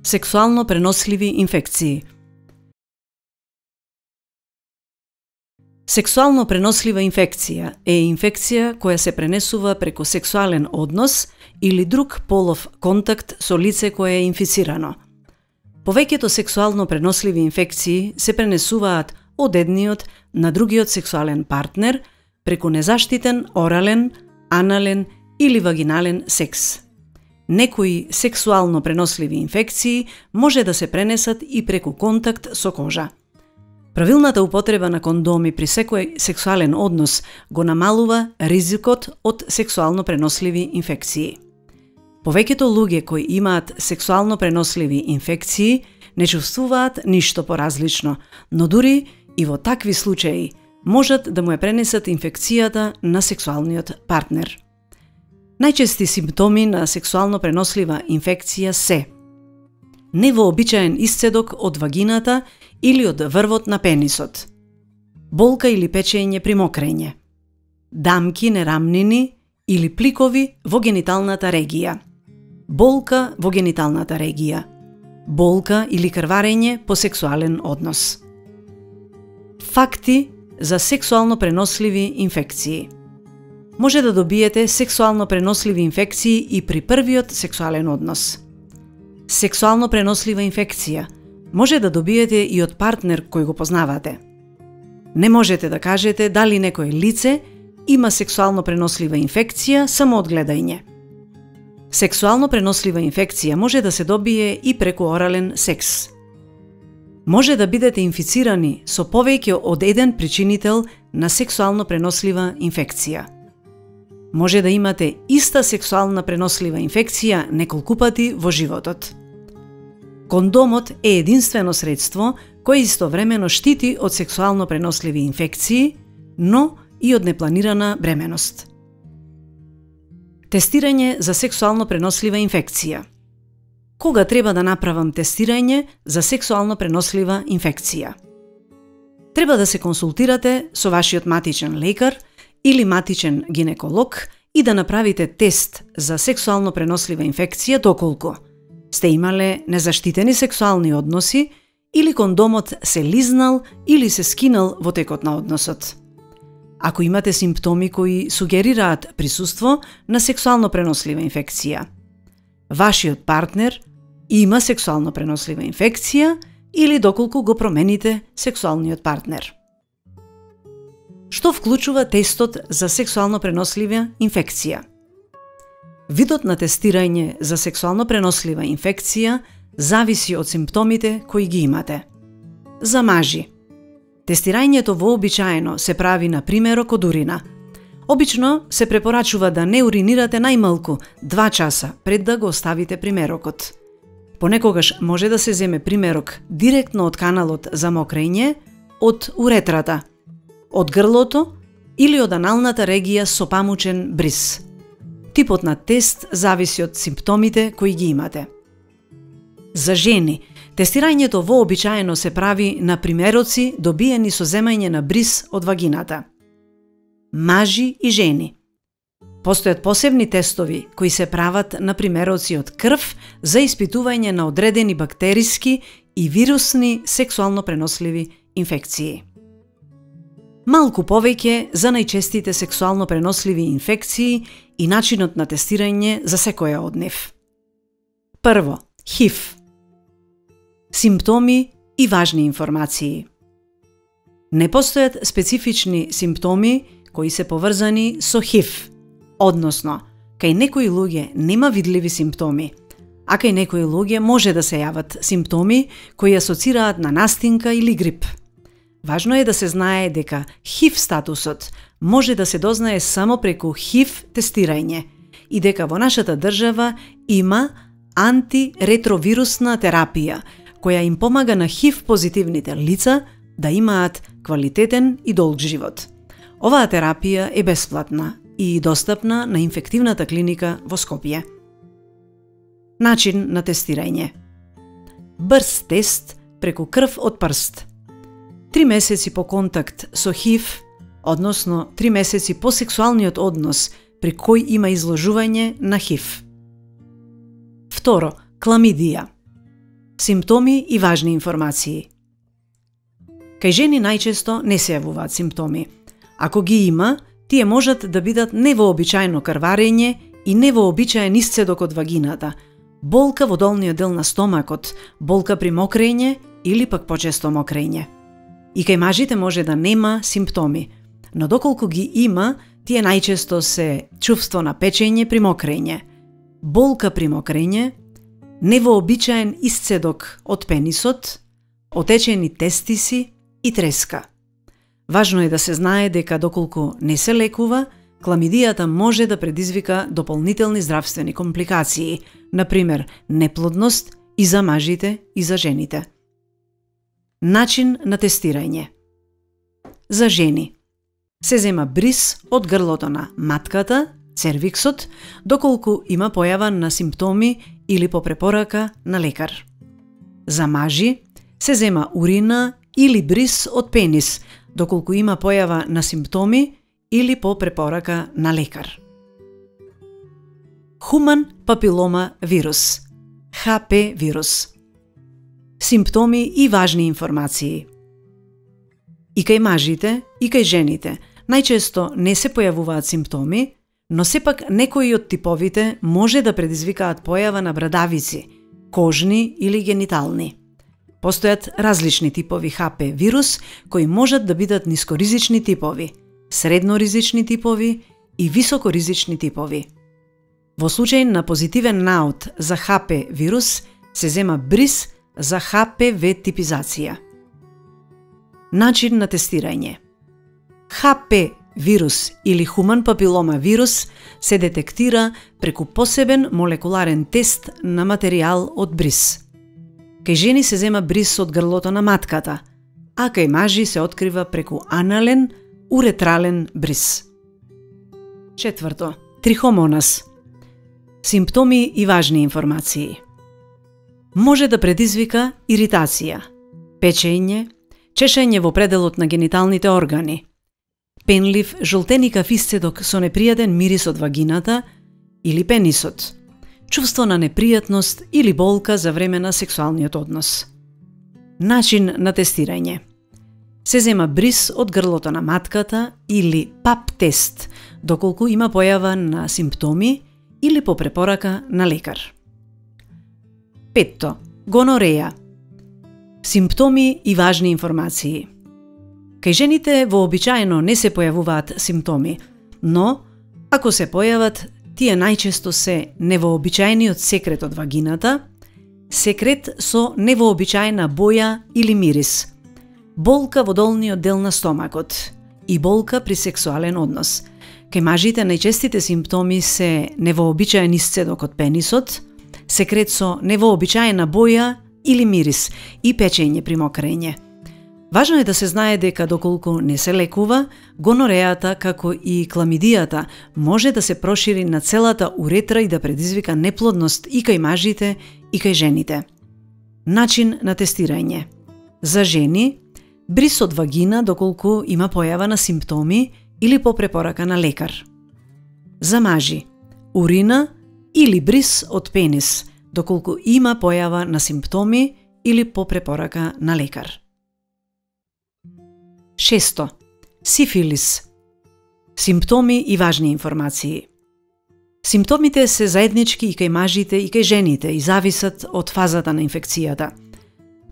Сексуално преносливи инфекции. Сексуално пренослива инфекција е инфекција која се пренесува преку сексуален однос или друг полов контакт со лице кое е инфицирано. Повеќето сексуално преносливи инфекции се пренесуваат од едниот на другиот сексуален партнер преку незаштитен орален, анален или вагинален секс. Некои сексуално преносливи инфекции може да се пренесат и преку контакт со кожа. Правилната употреба на кондоми при секој сексуален однос го намалува ризикот од сексуално преносливи инфекции. Повеќето луѓе кои имаат сексуално преносливи инфекции не чувствуваат ништо поразлично, но дури и во такви случаи можат да му ја пренесат инфекцијата на сексуалниот партнер. Најчести симптоми на сексуално пренослива инфекција се невообичаен исцедок од вагината или од врвот на пенисот, болка или печење при мокрење, дамки, нерамнини или пликови во гениталната регија, болка во гениталната регија, болка или крварење по сексуален однос. Факти за сексуално преносливи инфекции. Може да добиете сексуално преносливи инфекции и при првиот сексуален однос. Сексуално пренослива инфекција може да добиете и од партнер кој го познавате. Не можете да кажете дали некое лице има сексуално пренослива инфекција само од гледање. Сексуално пренослива инфекција може да се добие и преку орален секс. Може да бидете инфицирани со повеќе од еден причинител на сексуално пренослива инфекција. Може да имате иста сексуална пренослива инфекција неколку пати во животот. Кондомот е единствено средство кое истовремено штити од сексуално преносливи инфекции, но и од непланирана бременост. Тестирање за сексуално пренослива инфекција. Кога треба да направам тестирање за сексуално пренослива инфекција? Треба да се консултирате со вашиот матичен лекар или матичен гинеколог и да направите тест за сексуално пренослива инфекција доколку сте имале незаштитени сексуални односи или кондомот се лизнал или се скинал во текот на односот. Ако имате симптоми кои сугерираат присуство на сексуално пренослива инфекција, вашиот партнер има сексуално пренослива инфекција или доколку го промените сексуалниот партнер. Што вклучува тестот за сексуално пренослива инфекција? Видот на тестирање за сексуално пренослива инфекција зависи од симптомите кои ги имате. За мажи, тестирањето вообичаено се прави на примерок од урина. Обично се препорачува да не уринирате најмалку 2 часа пред да го оставите примерокот. Понекогаш може да се земе примерок директно од каналот за мокрење, од уретрата, од грлото или од аналната регија со памучен бриз. Типот на тест зависи од симптомите кои ги имате. За жени, тестирањето вообичаено се прави на примероци добиени со земање на бриз од вагината. Мажи и жени. Постојат посебни тестови кои се прават на примероци од крв за испитување на одредени бактериски и вирусни сексуално преносливи инфекции. Малку повеќе за најчестите сексуално преносливи инфекции и начинот на тестирање за секоја од нив. Прво, ХИВ. Симптоми и важни информации. Не постојат специфични симптоми кои се поврзани со ХИВ, односно, кај некои луѓе нема видливи симптоми, а кај некои луѓе може да се јават симптоми кои асоцираат на настинка или грип. Важно е да се знае дека ХИВ статусот може да се дознае само преку ХИВ тестирање и дека во нашата држава има антиретровирусна терапија која им помага на ХИВ позитивните лица да имаат квалитетен и долг живот. Оваа терапија е бесплатна и достапна на инфективната клиника во Скопје. Начин на тестирање. Брз тест преку крв од прст. 3 месеци по контакт со ХИВ, односно 3 месеци по сексуалниот однос при кој има изложување на ХИВ. Второ, кламидија. Симптоми и важни информации. Кај жени најчесто не се јавуваат симптоми. Ако ги има, тие можат да бидат невообичаено крварење и невообичаен исцедок од вагината, болка во долниот дел на стомакот, болка при мокрење или пак почесто мокрење. И кај мажите може да нема симптоми, но доколку ги има, тие најчесто се чувство на печење при мокрење, болка при мокрење, невообичаен исцедок од пенисот, отечени тестиси и треска. Важно е да се знае дека доколку не се лекува, кламидијата може да предизвика дополнителни здравствени компликации, например неплодност и за мажите и за жените. Начин на тестирање. За жени се зема бриз од грлото на матката, цервиксот, доколку има појава на симптоми или по препорака на лекар. За мажи се зема урина или бриз од пенис, доколку има појава на симптоми или по препорака на лекар. Хуман папилома вирус, ХП вирус. Симптоми и важни информации. И кај мажите, и кај жените најчесто не се појавуваат симптоми, но сепак некои од типовите може да предизвикаат појава на брадавици, кожни или генитални. Постојат различни типови ХП вирус кои можат да бидат нискоризични типови, средноризични типови и високоризични типови. Во случај на позитивен наод за ХП вирус се зема бриз за ХПВ типизација. Начин на тестирање. ХП вирус или хуман папилома вирус се детектира преку посебен молекуларен тест на материјал од бриз. Кај жени се зема бриз од грлото на матката, а кај мажи се открива преку анален, уретрален бриз. 4. Трихомонас. Симптоми и важни информации. Може да предизвика иритација, печење, чешење во пределот на гениталните органи, пенлив жолтеникав исцедок со непријатен мирис од вагината или пенисот, чувство на непријатност или болка за време на сексуалниот однос. Начин на тестирање. Се зема бриз од грлото на матката или ПАП тест, доколку има појава на симптоми или по препорака на лекар. 5. Гонореја. Симптоми и важни информации. Кај жените вообичаено не се појавуваат симптоми, но ако се појават, тие најчесто се невообичаениот секрет од вагината, секрет со невообичаена боја или мирис, болка во долниот дел на стомакот и болка при сексуален однос. Кај мажите најчестите симптоми се невообичаен исцедок од пенисот, секрет со невообичаена боја или мирис и печење при мокрење. Важно е да се знае дека доколку не се лекува, гонорејата како и кламидијата може да се прошири на целата уретра и да предизвика неплодност и кај мажите и кај жените. Начин на тестирање. За жени, бриз од вагина доколку има појава на симптоми или по препорака на лекар. За мажи, урина или бриз од пенис, доколку има појава на симптоми или по препорака на лекар. 6. Сифилис. Симптоми и важни информации. Симптомите се заеднички и кај мажите и кај жените и зависат од фазата на инфекцијата.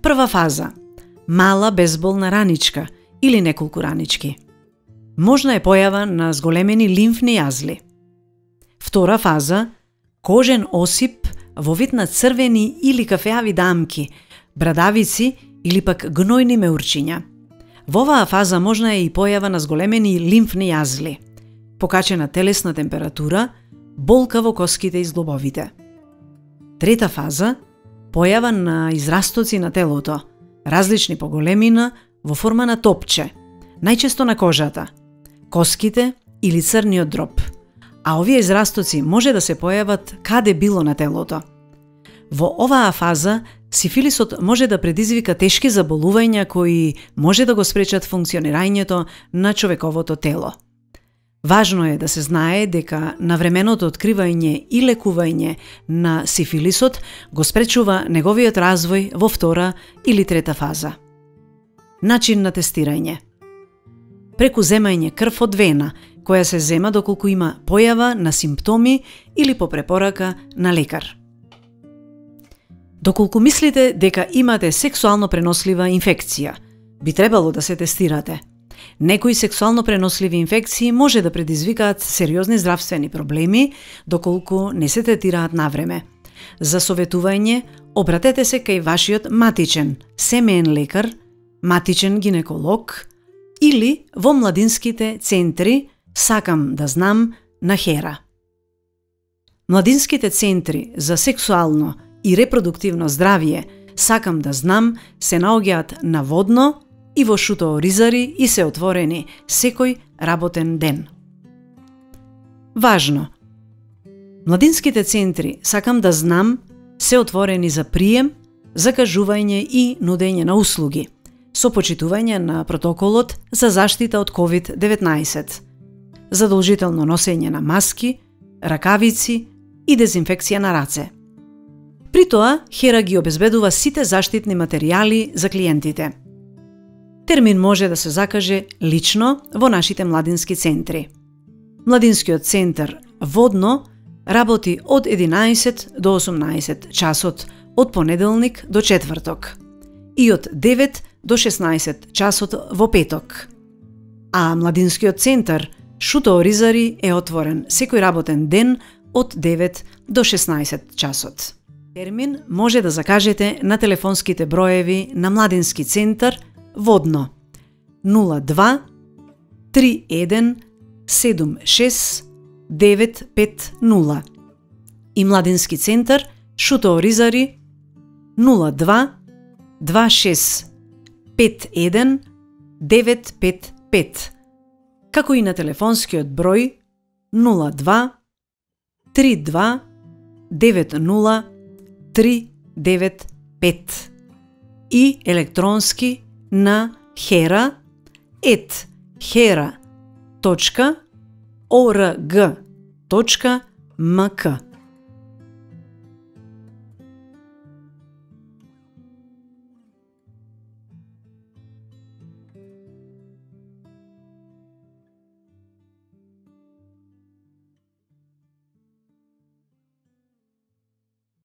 Прва фаза – мала безболна раничка или неколку ранички. Можна е појава на зголемени лимфни јазли. Втора фаза – кожен осип во вид на црвени или кафеави дамки, брадавици или пак гнојни меурчиња. Во оваа фаза можна е и појава на зголемени лимфни јазли, покачена телесна температура, болка во коските и зглобовите. Трета фаза – појава на израстоци на телото, различни по големина, во форма на топче, најчесто на кожата, коските или црниот дроб, а овие израстоци може да се појават каде било на телото. Во оваа фаза сифилисот може да предизвика тешки заболувања кои може да го спречат функционирањето на човековото тело. Важно е да се знае дека навременото откривање и лекување на сифилисот го спречува неговиот развој во втора или трета фаза. Начин на тестирање. Преку земање крв од вена, која се зема доколку има појава на симптоми или по препорака на лекар. Доколку мислите дека имате сексуално пренослива инфекција, би требало да се тестирате. Некои сексуално преносливи инфекции може да предизвикаат сериозни здравствени проблеми доколку не се третираат навреме. За советување, обратете се кај вашиот матичен, семеен лекар, матичен гинеколог или во младинските центри Сакам да знам на Хера. Младинските центри за сексуално и репродуктивно здравје Сакам да знам се наоѓаат на Водно и во Шутово Ризари и се отворени секој работен ден. Важно! Младинските центри Сакам да знам се отворени за прием, закажување и нудење на услуги, со почитување на протоколот за заштита од COVID-19, задолжително носење на маски, ракавици и дезинфекција на раце. При тоа, Хера ги обезбедува сите заштитни материјали за клиентите. Термин може да се закаже лично во нашите младински центри. Младинскиот центар Водно работи од 11 до 18 часот од понеделник до четврток и од 9 до 16 часот во петок. А младинскиот центар Шутово Ризари е отворен секој работен ден од 9 до 16 часот. Термин може да закажете на телефонските броеви на Младински центар Водно 02 31 76 950 и Младински центар Шутово Ризари 02 26 51 955, како и на телефонскиот број 02 32 90 395 и електронски на hera@hera.org.mk.